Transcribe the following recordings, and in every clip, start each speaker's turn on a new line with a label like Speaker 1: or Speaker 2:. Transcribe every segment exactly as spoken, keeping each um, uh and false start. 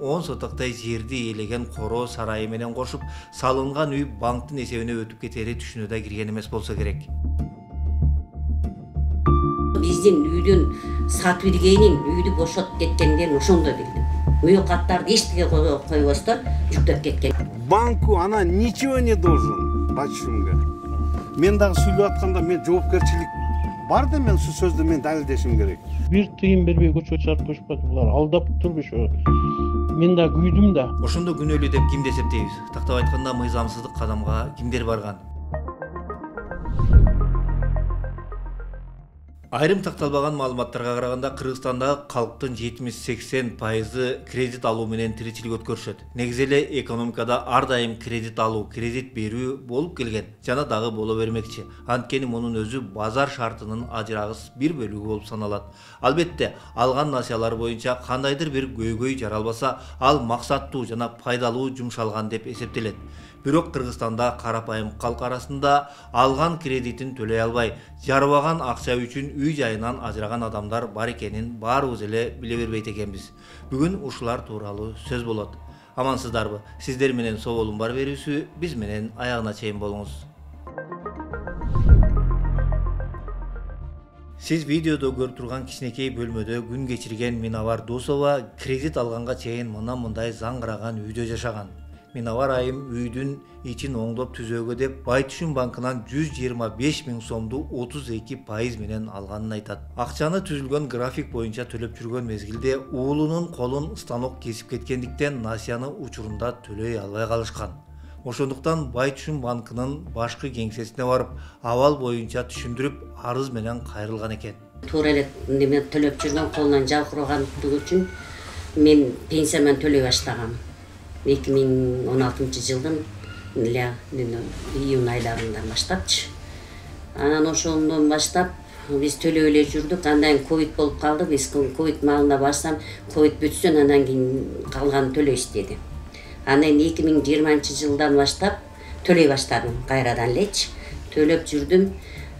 Speaker 1: он сотоктой жерди ээлеген коро сарайы менен кошуп салынган үй банктын эсебине өтүп кетери түшүнө да кирген эмес болсо керек.
Speaker 2: Биздин үйдүн сатып ийгенин үйдү бошотуп кеткендерин ошондо билдим. Муюкаттарды эчтеке койбостон жүктөп кеткен.
Speaker 3: Банку она ничего не должен бачымга. Мен дагы сүйлөп атканда мен жоопкерчилик бар да, мен ушул сөздү мен далилдешим керек.
Speaker 4: Бир тыйын бербей көчкө чыгарып коюшпады. Булар алдап турбуш. Мен да күйдүм да.
Speaker 1: Ошондо күнөөлүү деп кимди эсептейбиз? Тактап айтканда мыйзамсыздык кадамга кимдер барган? Айрым такталбаган маалыматтарга караганда Кыргызстандагы калктын жетимиш сексен пайызы кредит алуу менен тиричилик өткөрүшөт. Негизи эле экономикада ар дайым кредит алуу, кредит берүү болуп келген жана дагы боло бермекчи. Анткени мунун өзү базар шартынын ажырагыс бир бөлүгү болуп саналат. Албетте, алган насыялар боюнча кандайдыр бир көйгөй жаралбаса, ал максаттуу жана пайдалуу жумшалган деп эсептелет. Бирок Кыргызстанда карапайым калк арасында алган кредитин төлөй албай, жарбаган акча үчүн үй жайынан ажыраган адамдар бар экенин баарыбыз эле биле бербейт экенбиз. Бүгүн ушулар тууралуу сөз болот. Амансыздарбы? Сиздер менен Соболун бар берүүсү биз менен аягына чейин болуңуз. Сиз видеодо көрүп турган кичинекей бөлмөдө күн кечирген Миновар Дусова кредит алганга чейин мына мындай заңгыраган үйдө жашаган. Миновар айым үйдүн ичин оңдоп түзөөгө деп Байтүшүн банкынан жүз жыйырма беш миң сомду отуз эки пайыз менен алганын айтат. Акчаны түзүлгөн график боюнча төлөп жүргөн мезгилде уулунун колун станок кесип кеткендиктен насыяны учурунда төлөй албай калышкан. Ошондуктан Байтүшүн банкынын башкы кеңсесине барып, абал боюнча түшүндүрүп, арыз менен кайрылган экен.
Speaker 2: Туура эле неме төлөп жүргөн колунан жалкырагандыгы үчүн мен пенсиямен төлөй баштагам. эки миң он алтынчы жылдын эле июнь айларынан баштапчы. Анан ошондон баштап биз төлөй эле жүрдүк. Андан кийин ковид болуп калды. Биз ковид маалында барсам, ковид бүтсүн, андан кийин калганын төлөйсүз деди. Анан эки миң жыйырманчы жылдан баштап төлөй баштадым кайрадан элечи. Төлөп жүрдүм.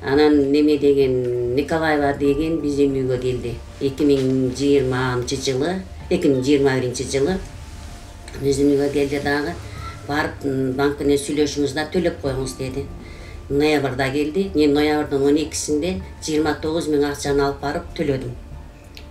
Speaker 2: Анан неме деген Николаева деген биздин үйгө келди. эки миң жыйырманчы жылы, эки миң жыйырма биринчи жылы биздин үйгө келди дагы. Барып банк менен сүйлөшүңүз да төлөп коюңуз деди. Ноябрда келди. Мен ноябрдын он экисинде жыйырма тогуз миң акчаны алып барып төлөдүм.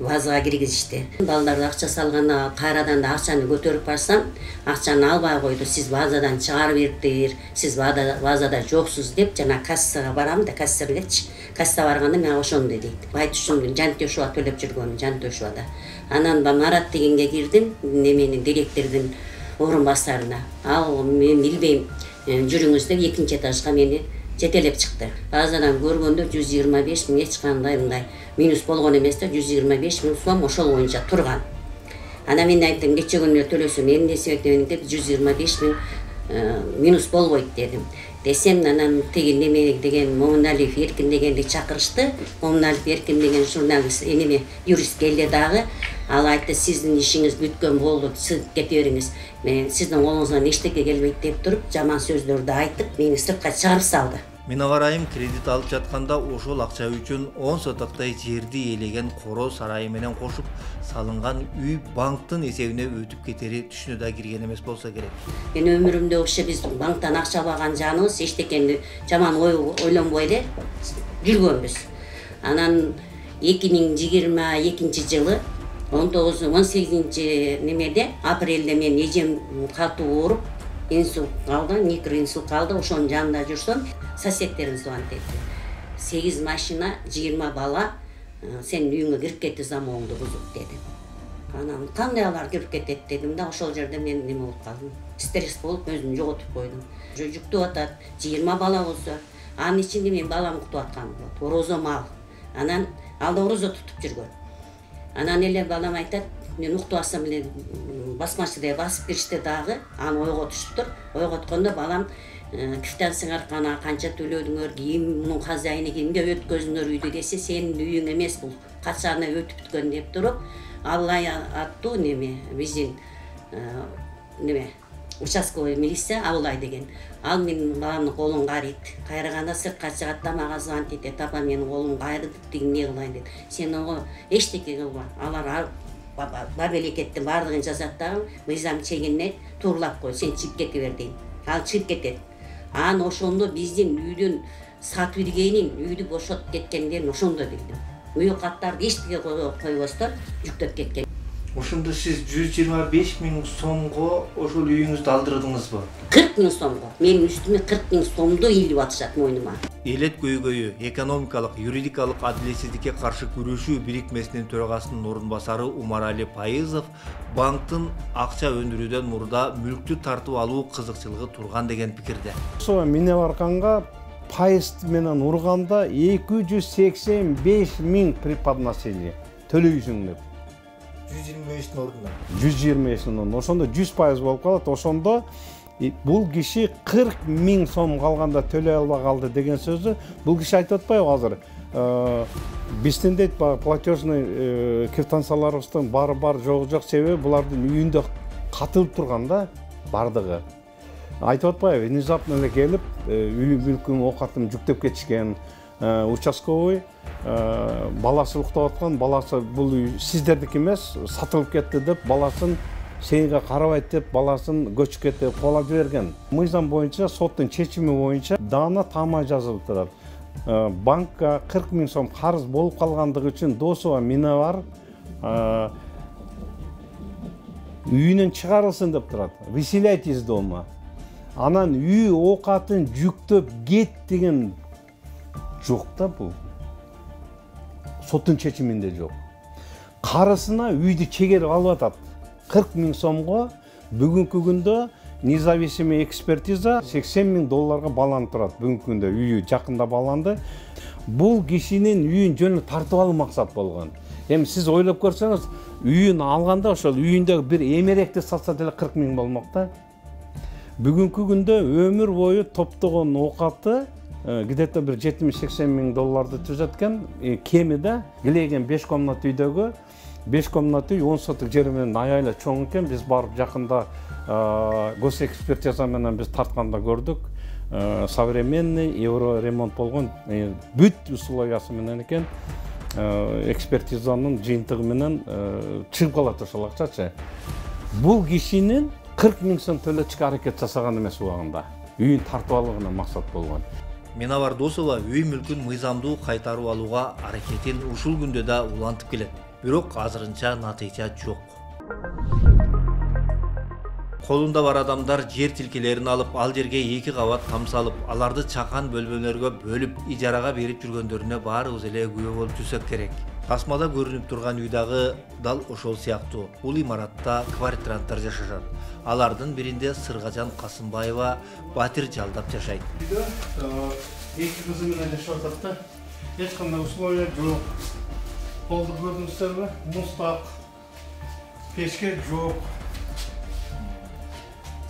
Speaker 2: Базага киргизишти. Балдарды акча салганда кайрадан да акчаны көтөрүп барсам, акчаны албай койду. Сиз базадан чыгарып бериптир, сиз базада жоксуз деп жана кассага барам да, кассирлерчи. Касса барганда мен ошондо дейт. Байтүшүн Жантөшова төлөп жүргөн, Жантөшовада. Анан Марат дегенге кирдим, неменин директордун орун басарына. Ал мен билбейм, жүрүңүз деп экинчи этажга мени жетелеп чыкты. Базадан көргөндө жүз жыйырма беш миң эч кандай мындай минус болгон эмес да, жүз жыйырма беш миң сом ошол боюнча турган. Анан мен айттым, кече күнү төлөсөм эмне себептен деп жүз жыйырма беш миң минус болбойт дедим. Десем, анан тиги неме деген Момуналиев Эркин дегенди чакырышты. Момуналиев Эркин деген журналист, эниме юрист келди дагы. Ал айтты, сиздин ишиңиз бүткөн болду, сиз кете бериңиз. Мен сиздин колуңуздан эчтеке келбейт деп туруп, жаман сөздөрдү айтып, мени сыртка чыгарып салды.
Speaker 1: Миновар айым кредит алып жатканда ошол акча үчүн он сотоктой жерди ээлеген коро сарайы менен кошуп салынган үй банктын эсебине өтүп кетери түшүнө да кирген эмес болсо керек.
Speaker 2: Мен өмүрүмдө вообще биз банктан акча албаган жаныбыз эчтекени жаман ойлонбой эле жүргөнбүз. Анан эки миң жыйырма экинчи жылы он тогуз он сегизинчи немеде апрелде мен эжем катуу ооруп, инсульт калды, микроинсульт калды. Ошонун жанында жүрсөм, соседтерим звонить этти. сегиз машина, жыйырма бала сен үйүңө кирип кетти, замогуңду бузуп деди. Анан кандай алар кирип кетет дедим да, ошол жерде мен неме болуп калдым. Стресс болуп өзүмдү жоготуп койдум. Жүктүп атат, жыйырма бала болсо, анын ичинде мен балам кутуп аткан болот. Орозо мал. Анан ал да орозо тутуп жүргөн. Анан эле балам айтат, мен уктуп алсам эле басмачыда басып киришти дагы, аны ойготуштур. Ойготкондо балам квитанцияңар кана канча төлөдүңөр, ким мунун хозяйыны, кимге өткөзүңөр үйдү десе, сенин үйүң эмес бул, качаны өтүп бүткөн деп туруп, Аллай аттуу неме биздин неме участковый милиция Абылай деген. Ал менин баламдын колун карыйт. Кайраганда сыртка чыгат да мага звонить этет. Апа, менин колум кайрылды, тиги эмне кылайын дейт. Сен ого эчтеке кылба. Алар бабеликеттин баардыгын жазат дагы мыйзам чегинет, тууралап кой, сен чыгып кете бер дейт. Ал чыгып кетет. Анан ошондо биздин үйдүн сатып ийгенин, үйдү бошотуп кеткендерин ошондо билдим. Үй каттарды эчтеке койбостон жүктөп кеткен.
Speaker 1: Ошондо сиз жүз жыйырма беш миң сомго ошол үйүңүздү алдырдыңызбы?
Speaker 2: кырк миң сомго. Менин үстүмө кырк миң сомду илип атышат мойнума.
Speaker 1: Элет көйгөйү экономикалык, юридикалык адилетсиздикке каршы күрөшүү бирикмесинин төрагасынын орун басары Умарали Пайызов банктын акча өндүрүүдөн мурда мүлктү тартып алуу кызыкчылыгы турган деген пикирде.
Speaker 3: Ошо Минебарканга пайыз менен урганда эки жүз сексен беш миң преподношение төлөйсүң деп.
Speaker 1: жүз жыйырма бештин ордуна.
Speaker 3: жүз жыйырма бештин ордуна. Ошондо жүз пайыз болуп калат. Ошондо бул киши кырк миң сом калганда төлөй албай калды деген сөзү бул киши айтып атпайбы азыр? Биздин дейт платежный квитанцияларыбыздын баары бар жогу жок себеби булардын үйүндө катылып турган да бардыгы. Айтып атпайбы? Внезапно эле келип үй бүлкүм оокатым жүктөп кетишкен. Участковый баласы уктап аткан, баласы бул үй сиздердики эмес, сатылып кетти деп баласын сенге карабайт деп баласын көчүп кетти деп кабыл берген. Мыйзам боюнча соттун чечими боюнча даана тама жазылып турат. Банкка кырк миң сом карыз болуп калгандыгы үчүн Досова Минебар үйүнөн чыгарылсын деп турат. Выселяйтесь дома. Анан үй оокатын жүктөп кет деген жок да бул. Соттун чечиминде жок. Карысына үйдү чегерип алып атат. кырк миң сомго бүгүнкү күндө независимый экспертиза сексен миң долларга баланып турат. Бүгүнкү күндө үйү жакында баланды. Бул кишинин үйүн жөнү тартып алуу максат болгон. Эми сиз ойлоп көрсөңүз, үйүн алганда ошол үйүндөгү бир эмеректи сатса деле кырк миң болмок да. Бүгүнкү күндө өмүр бою топтогон оокаты где-то бир жетимиш сексен миң долларды түзөт экен. Кеми да килеген беш комнат үйдөгү беш комнат үй он соток жери менен аябай чоң экен. Биз барып жакында госэкспертиза менен биз тартканда көрдүк. Современный евро ремонт болгон бүт условиясы менен экен. Экспертизанын жыйынтыгы менен чыгып калат ошол акчачы. Бул кишинин кырк миң сом төлөтүшкө аракет жасаган эмес убагында. Үйүн тартып алууна максат болгон.
Speaker 1: Минебар Досова үй мүлкүн мыйзамдуу кайтарып алууга аракетин ушул күндө да улантып келет. Бирок азырынча натыйжа жок. Колунда бар адамдар жер тилкелерин алып, ал жерге эки кабат там салып, аларды чакан бөлмөлөргө бөлүп, ижарага берип жүргөндөрүнө баарыбыз эле күбө болуп жүрсөк керек. Тасмада көрүнүп турган үй дагы дал ошол сыяктуу. Бул имаратта квартиранттар жашашат. Алардын биринде Сыргажан Касымбаева батир жалдап жашайт.
Speaker 3: Үйдө эки кызы менен жашап атат да. Эч кандай условия жок. Колду көрдүңүздөрбү? Мустак, печке жок.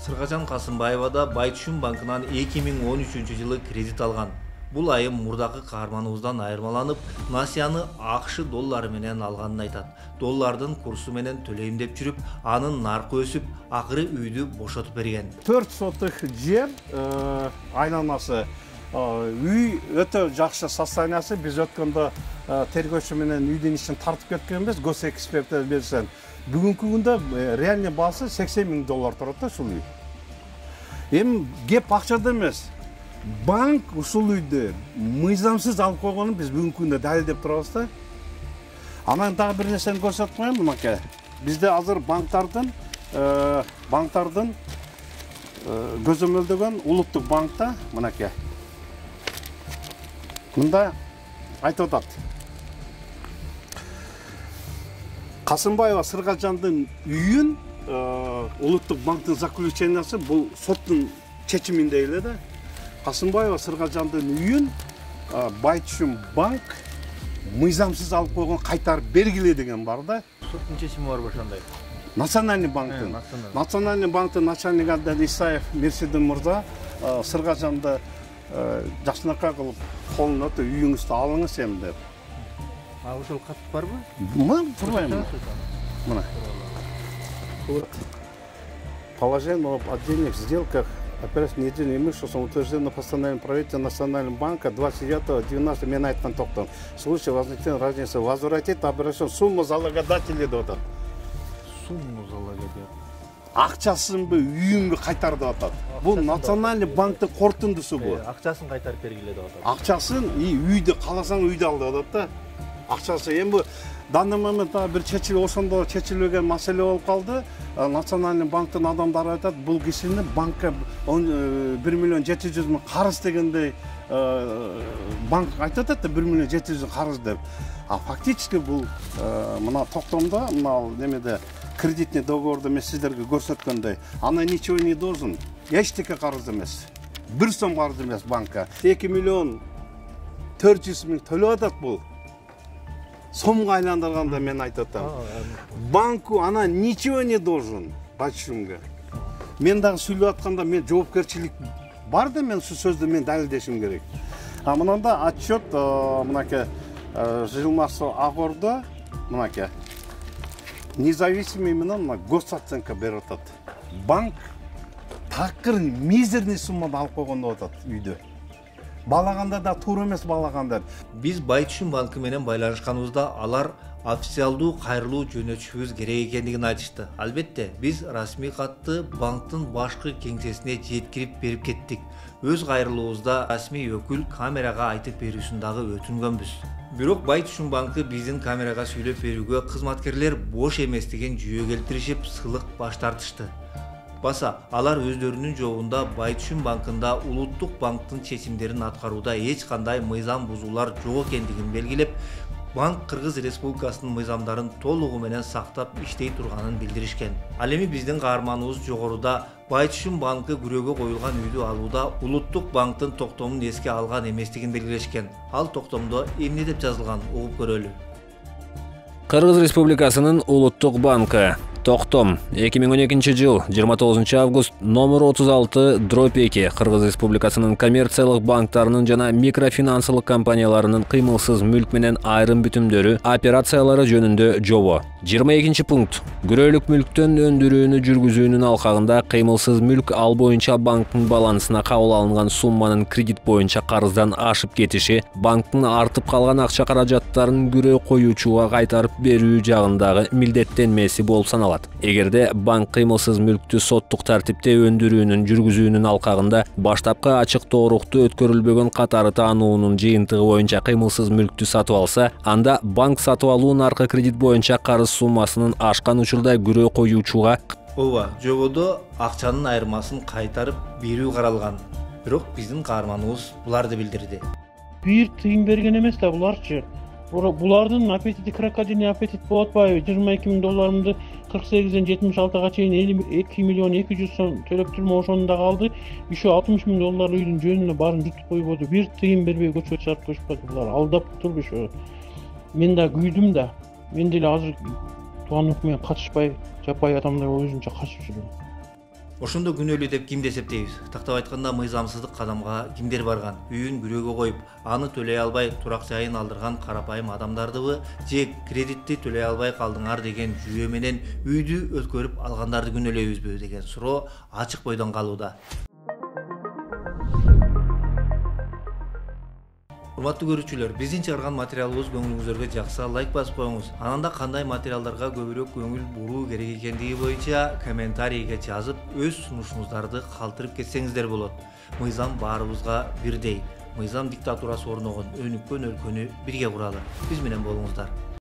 Speaker 1: Сыргажан Касымбаева да Байтүшүн банкынан эки миң он үчүнчү жылы кредит алган. Бул айым мурдагы каарманыбыздан айырмаланып, насыяны акш доллары менен алганын айтат. Доллардын курсу менен төлөйм деп жүрүп, анын наркы өсүп, акыры үйдү бошотуп берген.
Speaker 3: төрт соток жер, айланасы. Үй өтө жакшы состояниясы. Биз өткөндө тергөөчү менен үйдүн ичин тартып кеткенбиз, госэкспертиза берсен. Бүгүнкү күндө реальный баасы сексен миң доллар турат да ушул үй. Эми кеп акчада эмес. Банк ушул үйдү мыйзамсыз алып койгонун биз бүгүнкү күндө далилдеп турабыз да. Анан дагы бир нерсени көрсөтүп коеюн маке. Бизде азыр банктардын банктардын көзөмөлдөгөн улуттук банкта мынакей. Мында айтып атат. Касымбаева Сыргажандын үйүн улуттук банктын заключениясы бул соттун чечиминде эле да. Касымбаева Сыргажандын үйүн Байтүшүн банк мыйзамсыз алып койгон, кайтарып бергиле деген бар да.
Speaker 1: Соттун чечими бар ошондой.
Speaker 3: Национальный банктын Национальный банктын начальниги Абдан Исаев Мерседин мырза Сыргажанды жакшынакай кылып колун өтө үйүңүздү алыңыз эми деп.
Speaker 1: А ошол кат барбы?
Speaker 3: Мына турбайбы? Мына. Положение об отдельных сделках операций недельный имуществом утверждено постановлением правительства Национального банка двадцать девятого двенадцатого мен айткан токтом. В случае возникновения разницы возвратить обращен сумму залогодателей деп атат. акчасынбы үйүнбү кайтар деп атат. Бул национальный банктын корутундусу бул.
Speaker 1: Акчасын кайтарып бергиле деп атат.
Speaker 3: Акчасын и үйдү кааласаң үйдү ал деп атат да. Акчасы эми бу данный моментте бир чечилип ошондо чечилбеген маселе болуп калды. Национальный банктын адамдары айтат, бул кишини банкка бир миллион жети жүз миң карыз дегендей банк айтып атат да бир миллион жети жүз карыз деп. А фактически бул мына токтомдо, мына немеде кредитный договорду мен сиздерге көрсөткөндөй, ана ничего не должен. Эчтеке карыз эмес. бир сом карыз эмес банкка. эки миллион төрт жүз миң төлөп атат бул. Сомго айландырганда мен айтып атам. Банку ана ничего не должен. Бачумга. Мен дагы сүйлөп атканда мен жоопкерчилик бар да, мен ушул сөздү мен далилдешим керек. А мынанда отчет мынакей Жилмарсо Агордо мынакей независимый менен госоценка берип атат. Банк такыр мизерный суммада алып койгон деп атат үйдө. Балаганда да туура эмес балагандар.
Speaker 1: Биз Байтүшүн банкы менен байланышканыбызда алар официалдуу кайрылуу жөнөтүшүбүз керек экендигин айтышты. Албетте, биз расмий катты банктын башкы кеңсесине жеткирип берип кеттик. Өз кайрылуубузда расмий өкүл камерага айтып берүүсүн дагы өтүнгөнбүз. Бирок Байтүшүн банкы биздин камерага сүйлөп берүүгө кызматкерлер бош эмес деген жүйө келтиришип, сылык баш тартышты. Баса, алар өздөрүнүн жообунда Байтүшүн банкында улуттук банктын чечимдерин аткарууда эч кандай мыйзам бузуулар жок экендигин белгилеп, банк Кыргыз Республикасынын мыйзамдарын толугу менен сактап иштей турганын билдиришкен. Ал эми биздин каарманыбыз жогоруда Байтүшүн банкы күрөөгө коюлган үйдү алууда улуттук банктын токтомун эске алган эместигин белгилешкен. Ал токтомдо эмне деп жазылган, угуп көрөлү.
Speaker 5: Кыргыз Республикасынын улуттук банкы Токтом эки миң он экинчи жыл жыйырма тогузунчу август номер отуз алты дробь эки Кыргыз Республикасынын коммерциялык банктарынын жана микрофинансылык компанияларынын кыймылсыз мүлк менен айрым бүтүмдөрү операциялары жөнүндө жобо. жыйырма экинчи пункт. Күрөөлүк мүлктөн өндүрүүнү жүргүзүүнүн алкагында кыймылсыз мүлк ал боюнча банктын балансына кабыл алынган сумманын кредит боюнча карыздан ашып кетиши, банктын артып калган акча каражаттарын күрөө коюучуга кайтарып берүү жагындагы милдеттенмеси болуп саналат. Эгерде банк кыймылсыз мүлктү соттук тартипте өндүрүүнүн жүргүзүүнүн алкагында баштапкы ачык тоорукту өткөрүлбөгөн катары таануунун жыйынтыгы боюнча кыймылсыз мүлктү сатып алса, анда банк сатып алуу наркы кредит боюнча карыз суммасынын ашкан учурда күрөө коюучуга
Speaker 1: ооба, жободо акчанын айырмасын кайтарып берүү каралган. Бирок биздин каарманыбыз буларды билдирди.
Speaker 4: Бир тыйын берген эмес да буларчы. Булардын аппетити крокодильный аппетит болуп атпайбы? жыйырма эки миң долларымды кырк сегизден жетимиш алтыга чейин эки миллион эки жүз сом төлөп турмун, ошону да калды. Еще алтымыш миң доллар үйдүн жөнүнө баарын жутуп койбоду. Бир тыйын бербей көчкө чыгарып коюшпады. Булар алдап турбуш. Мен да күйдүм да. Мен деле азыр туугандык менен катышпай, жапай адамдар өзүнчө качып жүрөм.
Speaker 1: Ошондо күнөөлүү деп кимди эсептейбиз? Тактап айтканда мыйзамсыздык кадамга кимдер барган? Үйүн күрөөгө коюп, аны төлөй албай турак жайын алдырган карапайым адамдардыбы, же кредитти төлөй албай калдыңар деген жүйө менен үйдү өткөрүп алгандарды күнөөлөйбүзбү деген суроо ачык бойдон калууда. Урматтуу көрүүчүлөр, биздин чыгарган материалыбыз көңүлүңүздөргө жакса лайк басып коюңуз. Анан да кандай материалдарга көбүрөөк көңүл буруу керек экендиги боюнча комментарийге жазып, өз сунушуңуздарды калтырып кетсеңиздер болот. Мыйзам баарыбызга бирдей. Мыйзам диктатурасы орногон өнүккөн өлкөнү бирге куралы. Биз менен болуңуздар.